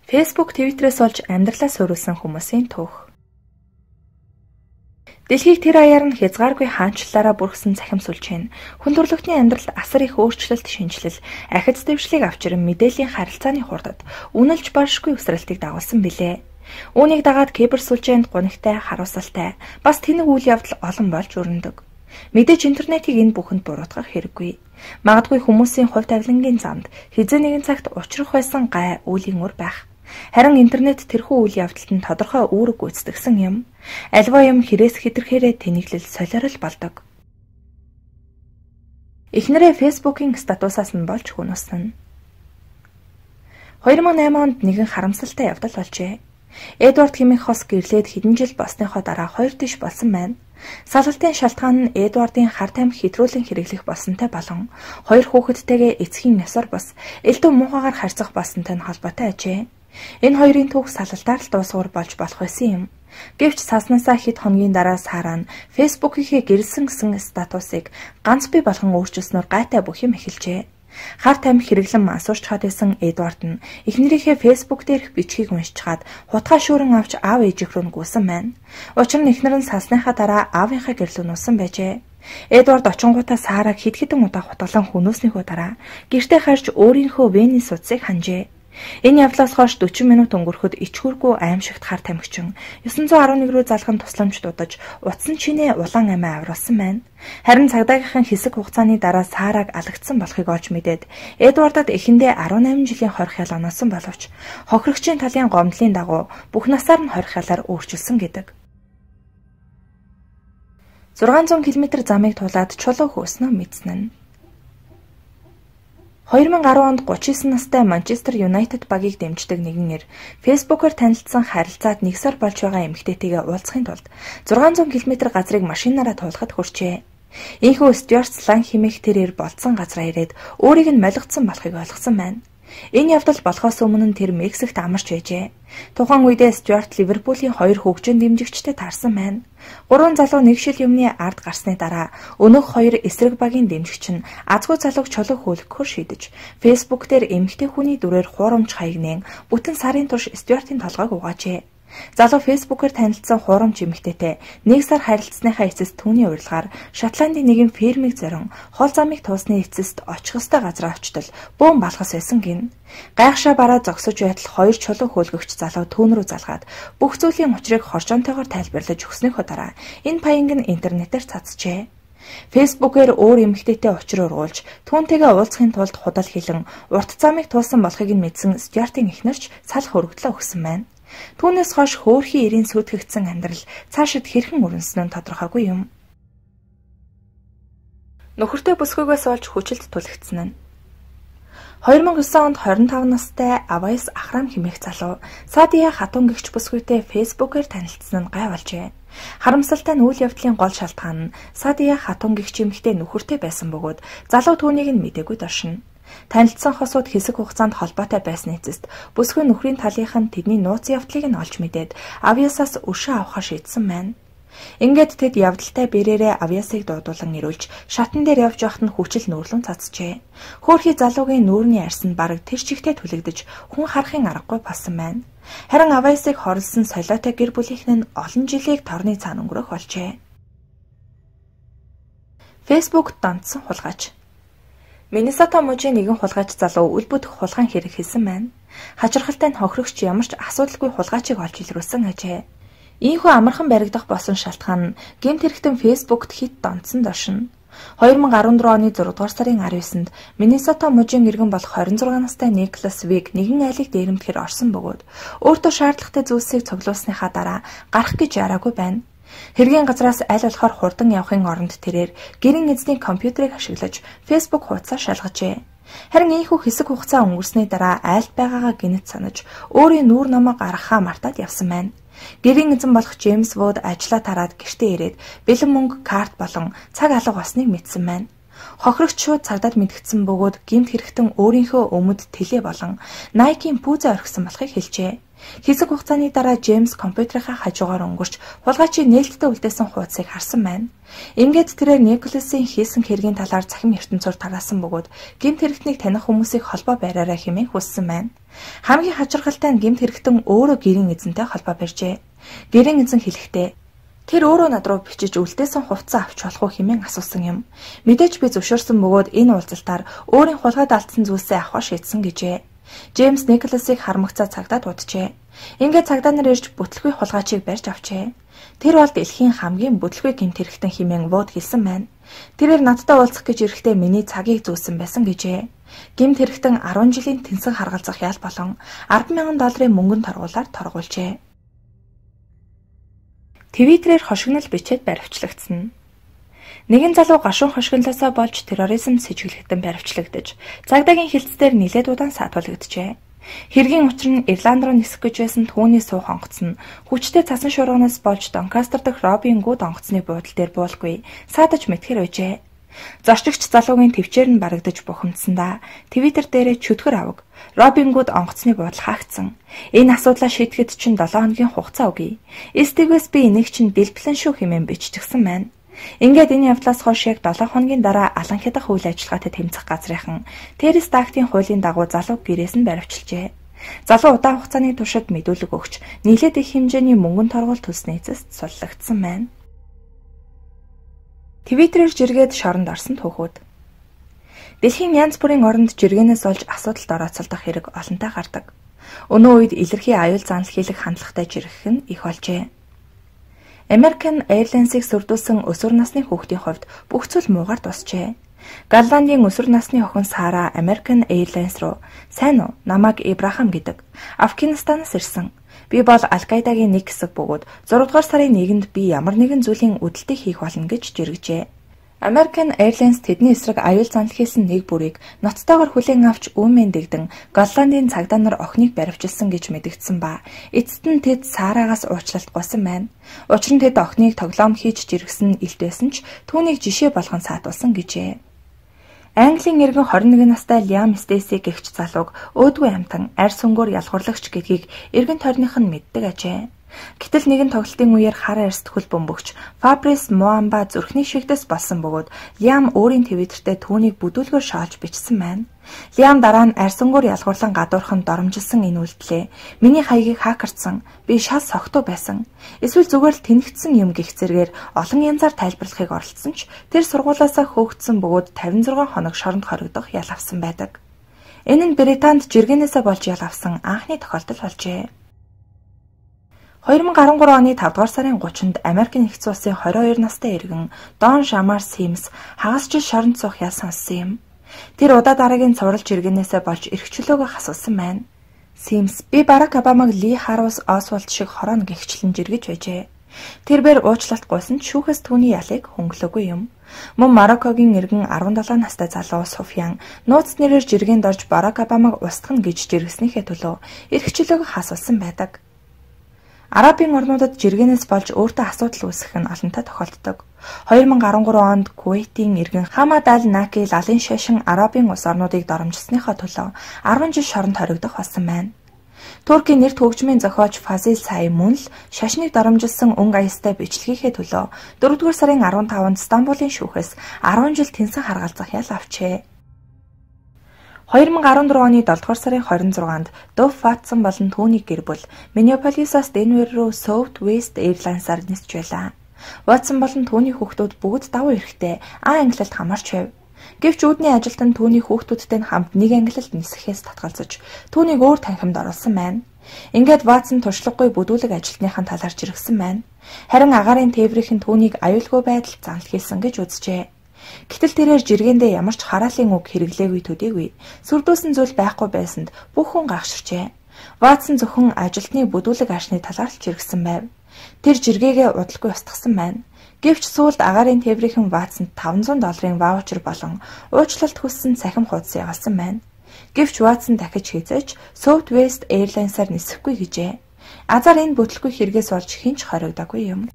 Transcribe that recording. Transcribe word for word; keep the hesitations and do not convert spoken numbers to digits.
Facebook, Twitter-ээс олж амьдралаа суурилсан хүмүүсийн түүх. Дэлхийг тэр аяар нь хязгааргүй хаанчлалаараа бүрхсэн цахим сүлжээ нь хүн төрөлхтний амьдралд асар их өөрчлөлт, шинжилэл, ахиц дэвшлиг авчран мэдээллийн харилцааны хурдад үнэлж баршгүй өсрэлтийг дагуулсан билээ. Үүнийг дагаад кибер сүлжээнд гунигтай, харуулсалтай, бас тэнэг үйл явдал олон болж өрнөдөг. Мэдээж интернетийг энэ бүхэнд буруутгах хэрэггүй. Магадгүй хүмүүсийн хувь тавилангийн замд хэзээ нэгэн цагт учрах байсан гай үеийн үр байх. Харин интернет тэрхүү үйл явдалд нь тодорхой үүрэг гүйцэтгэсэн юм. Альва юм хэрээс хэтэрхээрээ тэнэглэл солиорол болдог. Эхнэрээ Facebook-ийн статусаас нь болж хүнөснө. хоёр мың и онд нэгэн харамсалтай явдал болжээ. Эдвард хэмээх хос гэрлээд хэдэн жил болсныхоо дараа хоёр тийш болсон байна. Салгалтын шалтгаан нь Эдвардын хар тамхи хэтрүүлэн хэрэглэх болсонтой болон хоёр хүүхэдтэйгээ эцгийн ёсоор бас элдв муухайгаар харьцах болсонтой нь холбоотой ажээ. Энэ хоёрын түүх салгалтаар л дуусгуур болж болох байсан юм. Гэвч цааснасаа хэд хоногийн дараа Сара нь Facebook-ийнхээ гэрэлсэн гэсэн статусыг ганц бий болгон өөрчилснөөр гайтай бүх юм эхэлжээ. Хар тамхи хэрэглэн мансуурч хаад байсан Эдвард нь эхнэрийнхээ Facebook дээрх бичгийг уншичаад хутгаа шүүрэн авч аав ээжих рүү гүйсэн байна. Учир нь эхнэр нь салсныхаа дараа аавынхаа гэрлүү нуусан байжээ. Эдвард очингуудаа Сараг хэд хэдэн удаа хутгалан хөнөөснийхөө дараа гэртээ харж өөрийнхөө вений судсыг ханжээ. Энэ явдлаас хойш дөрвөн минут өнгөрөхөд ичгүүргүй аимшигт хар тамхичин девятьсот десять один рүү залган тусламж дуудаж утсан чинээ улаан амиа авруулсан байна. Харин цагдаагийнхын хэсэг хугацааны дараа Сараг алагдсан болохыг олж мэдээд Эдвардад эхэндээ десять жилийн хорих ял оноосон боловч хохирогчийн талын гомдлын дагуу бүх насаар нь хорих ялаар өөрчилсөн гэдэг. зургаан зуун километр замыг тулаад чулуу хөөснөө мэдсэн нь. хоёр мың и десять онд гучин и девять настай Манчестер Юнайтед багийг дэмждэг нэгэн эр Facebook-оор танилцсан харилцаад нэг сар болж байгаа эмэгтэйтэйгээ уулзахын тулд зургаан зуун километр газрыг машинаараа туулахад хүрчээ. Ийхүү Стюарт Слан хэмээх тэр эр болцсон газраа ирээд өөрийг нь молигдсон болохыг ойлгосон байна. Энэ явдал болохоос өмнө нь тэр Мексикт амарч байжээ. Тухайн үедээ Стюарт Ливерпулийн хоёр хөгжин дэмжигчтэй таарсан байна. Гурван залуу нэг шил юмны ард гарсны дараа өнөөх хоёр эсрэг багийн дэмжигч нь азгүй залууг чулуу хөөлгөхөөр шийдэж Facebook дээр эмэгтэй хүний дүрээр хуурамч хаягнэн бүтэн сарын турш Стюартын толгойг угаажээ. Залуу Facebook-оор танилцсан хуурамч эмэгтэйтэй нэг сар харилцсныхаа эцэст түүний урилгаар Шотландын нэгэн фермийг зорин хол замыг туусны эцэст очих ёстой газар очтол бөөн балхас байсан гин. Гайхшаа бараа зогсож байтал хоёр чулуу хөөлгөгч залуу түүн рүү залгаад бүх зүйлийн учрыг хоржоонтойгоор тайлбарлаж өгснөөхөө дараа энэ паянг нь интернетээр цацжээ. Facebook-ээр өөр эмэгтэйтэй учир ургуулж түүнтэйгээ уулзахын тулд худал хэлэн урт замыг туусан болохыг нь мэдсэн Стюартын эхнэрч салах өргөдлөө өгсөн байна. Түүнээс хойш хөөрхий эрийн сүйтгэгдсэн амьдрал цаашид хэрхэн өрнөсөн нь тодорхойгүй юм. Нөхөртэй бүсгүйгээс олж хүчилд түлхэгдсэн нь. хоёр мың и девять онд хорин таван настай Авайс Ахрам хэмээх залуу Садия хатун гэгч бүсгүйтэй Facebook-оор танилцсан нь гай болжээ. Харамсалтай нь үйл явдлын гол шалтгаан нь Садия хатун гэгч эмэгтэй нөхөртэй байсан бөгөөд залуу түүнийг нь мдэггүй доршино. Танилцсан хосууд хэсэг хугацаанд холбоотой байсан эцэст бүсгүй нөхрийн талийнх нь тэдний нууц явдлыг нь олж мэдээд Авьяасаас өшөө авахар шийдсэн байна. Ингээд тэд явдалтай бэрээрээ Авьяасыг дуудуулан ирүүлж шатан дээр явж явахт нь хүчил нүүрлэн цацжээ. Хөөрхий залуугийн нүүрний арьс нь бараг тэр чигтээ түлэгдэж хүн харахын аргагүй болсон байна. Харин Авьяасыг хорлсон солиотой гэр бүлийнхэн нь олон жилийг торны цаана өнгөрөх болжээ. Facebook донтсон хулгайч. Миннесота мужийн нэгэн хулгайч залуу үл бүтэх хулгайн хэрэг хийсэн байна. Хачирхалтай нь хохирогч ямар ч асуудалгүй хулгайчийг олж илрүүлсэн ажээ. Ийхүү амархан баригдах болсон шалтгаан нь гэмт хэрэгтэн Facebook-т хит донтсон доршино. хоёр мың и дөрвөн оны зургаадугаар сарын арав есэнд Миннесота мужийн иргэн болох хорин зургаан настай Никлас Виг нэгэн айлыг дээрэмдэхэр орсон бөгөөд өөртөө шаардлагатай зүйлсийг цуглуулсныхаа дараа гарах гэж яраагүй байна. Хэргийн газраас аль болохоор хурдан явахын оронд тэрээр гэрийн эзний компьютерыг ашиглаж Facebook хуудасаа шалгажээ. Харин ийхүү хэсэг хугацаа өнгөрсний дараа айлд байгаагаа гинэт санаж өөрийн нүүр номоо гаргахаа мартаад явсан байна. Гэрийн эзэн болох Джеймс Вуд ажлаа тараад гэртээ ирээд бэлэн мөнгө, карт болон цаг алга болсныг мэдсэн байна. Хохирогч шууд цагдаад мэдгдсэн бөгөөд гэмт хэрэгтэн өөрийнхөө өмд тэлээ болон Nike-ийн пүүзэ орхисон болохыг хэлжээ. Хэсэг хугацааны дараа Джеймс компьютерийнхаа хажуугаар өнгөрч хулгайчийн нээлттэй үлдээсэн хуудсыг харсан байна. Ингээд тэрээр Николасын хийсэн хэргийн талаар цахим ертөнцөөр тараасан бөгөөд гэмт хэрэгтнийг таних хүмүүсийг холбоо бариараа хэмээн хүссэн байна. Хамгийн хачирхалтай нь гэмт хэрэгтэн өөрөө гэрийн эзэнтэй холбоо барьжээ. Гэрийн эзэн хэлэхдээ тэр өөрөө над руу бичиж үлдээсэн хувцас авч болох уу хэмээн асуусан юм. Мэдээж би зөвшөөрсөн бөгөөд энэ уулзалтаар өөрийн хулгайд алдсан зүйлсээ авахар шийдсэн гэжээ. Джеймс Николасыг хармагцаа цагдаад уджээ. Ингээд цагдаа нар ирж бүтлгүй хулгайчийг барьж авчээ. Тэр бол дэлхийн хамгийн бүтлгүй гэмт хэрэгтэн хэмээн вууд хэлсэн байна. Тэрээр надтай уулзах гэж ирэхдээ миний цагийг зөөсөн байсан гэжээ. Гэмт хэрэгтэн арван жилийн тэнцэн харгалзах ял болон арван мянган долларын мөнгөнд торгуулаар торгуулжээ. Твиттерээр хошигнол бичээд баривчлагдсан. Нэгэн залуу гашуун хошигнолоосоо болж терроризм сэжиглэгдэн баривчлагдаж, цагдаагийн хилцээр нилээд удаан саатуулгджээ. Хэргийн учир нь Ирланд руу нисэх гэж байсан түүний суух онгоц нь хүчтэй цасан шуурганаас болж Донкастер дахь Робин Гуд онгоцны буудлын дээр буулгүй саадаж мэтгэр байжээ. Зорчигч залуугийн төвчээр нь барагдаж бухимдсандаа Твиттер дээрээ чөтгөр аваг Робин Гуд онгоцны буудал хаагдсан. Энэ асуудлаа шийдэхэд чинь долоон хоногийн хугацаа өгье. Стивээс би энийг чинь дэлбэлэн шүү хэмээн биччихсэн байна. Ингээд энэ явдлаас хойш яг долоон хоногийн дараа алан хядах үйл ажиллагаатай тэмцэх газрынхан Террис Дактийн хуулийн дагуу залууг гэрээс нь баривчилжээ. Залуу удаан хугацааны туршид мэдүүлэг өгч нийлээд их хэмжээний мөнгөнд торгуул төлсний эцэст суллагдсан байна. Твиттерээр жиргээд шоронд орсон түүхүүд. Дэлхийн янз бүрийн оронд жиргэнээс олж асуудалд орооцолдох хэрэг олонтой гардаг. Өнөө үед илэрхий аюул занал хийлэх хандлагатай жиргэх нь их болжээ. American Airlines-ыг сүрдүүлсэн өсвөр насны хүүхдийн хувьд бүх зүйл муугаар дуусжээ. Голландын өсвөр насны охин Сара American Airlines руу "Сайн уу? Намайг Ибрахам гэдэг. Афганистанаас ирсэн. Би бол Аль-Каидагийн нэг хэсэг бөгөөд зургаадугаар сарын нэгэнд би ямар нэгэн зүйлийн үдэлтийг хийх болно" гэж жиргэжээ. American Airlines тэдний эсрэг аюул занал хийсэн нэг бүрийг ноцтойгоор хүлээн авч үүмэн дэгдэн Голландын цагдаа нар охиныг баривчилсан гэж мэдэгдсэн ба эцэст нь тэд Сараагаас уучлалт гуйсан байна. Учир нь тэд охиныг тоглоом хийж жиргсэн илт байсан ч түүнийг жишээ болгон саатуулсан гэжээ. Английн иргэн хорин нэгэн настай Liam Stacey гэгч залууг өөдгүй амтан арь сүнгөөр ялгуурлагч гэдгийг иргэн тойрных нь мэддэг ажээ. Гэтэл нэгэн тоглолтын үеэр хар арьст хөл бөмбөгч Fabrice Muamba зүрхний шигдэс болсон бөгөөд Liam өөрийн твиттертэй түүнийг бүдүүлгээр шаалж бичсэн байна. Liam дараа нь арьсангуур ялгуурлан гадуурхан доромжилсан энэ үйлдэлээ "Миний хаягийг хакердсан. Би шал согтуу байсан. Эсвэл зүгээр л тэнэгтсэн юм" гэх зэргээр олон янзаар тайлбарлахыг оролдсон ч тэр сургуулаасаа хөөгдсөн бөгөөд тавин зургаан хоног шоронд хоригдох ял авсан байдаг. Энэ нь Британд жиргэнээсээ болж ял авсан анхны тохиолдол болжээ. хоёр мың арван гурван оны тавдугаар сарын гуравчнд Америкийн нэгдсэн улсын хорин хоёр настай иргэн Дон Шамар Симс хагас жил шоронд суух ял сонссон юм. Тэр удаа дараагийн цуврал жиргэнээсээ болж эрхчлөөгөө хасуулсан байна. Симс "Би Барак Обамаг Ли Харус Освальд шиг хорооно" гэгчлэн жиргэж байжээ. Тэрээр уучлалт гуйсан ч шүүхээс түүний ялыг хөнгөлөөгүй юм. Мөн Мароккогийн иргэн арван долоо настай залуу Суфьян нууц нэрээр жиргэнд орж Барак Обамаг устгах гэж жиргэснийхээ төлөө эрхчлөөгөө хасуулсан байдаг. Арабын орнуудад жиргэнээс болж өөртөө асуудал үүсгэх нь олонтой тохиолддог. хоёр мың арван гурван онд Кувейтийн иргэн Хамад Аль-Наки лалын шашин Арабын улс орнуудыг доромжилсныхоо төлөө арван жил шоронд хоригдох болсон байна. Туркийн нэрт хөгжмийн зохиолч Фазил Сай мөн л шашныг доромжилсан өнгө аястай бичлэгийн төлөө дөрөвдүгээр сарын арван таванд Стамбулын шүүхээс арван жил тэнцэн харгалзах ял авчээ. хоёр мың арван дөрвөн оны долдугаар сарын хорин зургаанд Дув Ватсон болон түүний гэр бүл Миннеаполисаас Денвер руу Southwest Airlines-аар нисч байлаа. Ватсон болон түүний хүүхдүүд бүгд давуу эрэхтэй А ангилалд хамаарч байв. Гэвч үүдний ажилтан түүний хүүхдүүдтэй хамт нэг ангилалд нисэхээс татгалзаж түүнийг өөр танхимд оруулсан байна. Ингээд Ватсон туршлагагүй бүдүүлэг ажилтныхаа талаар жиргсэн байна. Харин агаарын тээврийнхэн түүнийг аюулгүй байдалд занал хийсэн гэж үзжээ. Гэтэл тэрээр жиргэндээ ямар ч хараалын үг хэрэглээгүй төдийгүй сүрдүүлсэн зүйл байхгүй байсанд бүх хүн гайхширчээ. Ватсон зөвхөн ажилтны бүдүүлэг аашны талаар л жиргсэн байв. Тэр жиргээгээ удалгүй устгасан байна. Гэвч сүүлд агаарын тээврийнхэн Ватсонд таван зуун долларын ваучер болон уучлалт хүссэн цахим хуудас ягалсан байна. Гэвч Ватсон дахиж хийцээж Southwest Airlines-аар нисэхгүй гэжээ. Азар энэ бүтлгүй хэрэгээс болж хинч хоригдоогүй юм.